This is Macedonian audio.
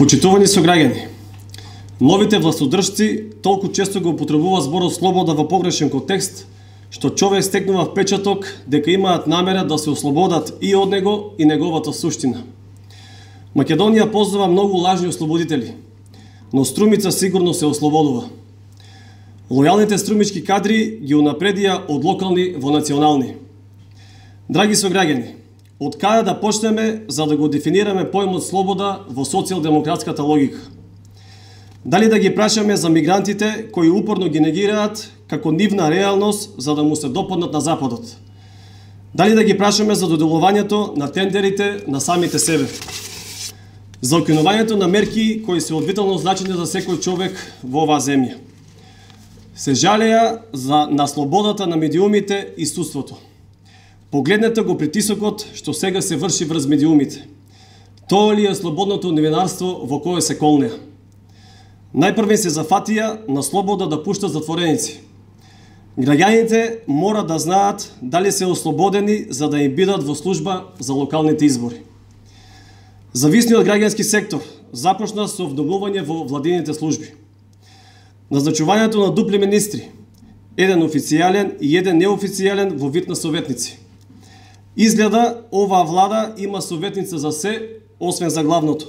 Почитувани сограѓани, новите властодржци толку често го употребуваат зборот слобода во погрешен контекст, што човек стекнува впечаток дека имаат намера да се ослободат и од него и неговата суштина. Македонија познава многу лажни ослободители, но Струмица сигурно се ослободува. Лојалните струмички кадри ги унапредија од локални во национални. Драги сограѓани, од каде да почнеме за да го дефинираме поимот слобода во социјалдемократската логика? Дали да ги прашаме за мигрантите кои упорно ги негираат како нивна реалност за да му се допаднат на Западот? Дали да ги прашаме за доделувањето на тендерите на самите себе? За укинувањето на мерки кои се од витално значење за секој човек во оваа земја? Се жалеа на слободата на медиумите и судството. Погледнете го притисокот што сега се врши врз медиумите. Тоа ли е слободното новинарство во кое се колнеа? Најпрвен се зафатија на слобода да пуштат затвореници. Граѓаните мора да знаат дали се ослободени за да им бидат во служба за локалните избори. Зависниот граѓански сектор започна со вдобнување во владините служби. Назначувањето на дупли министри, еден официјален и еден неофицијален во вид на советници. Изгледа оваа влада има советница за се, освен за главното.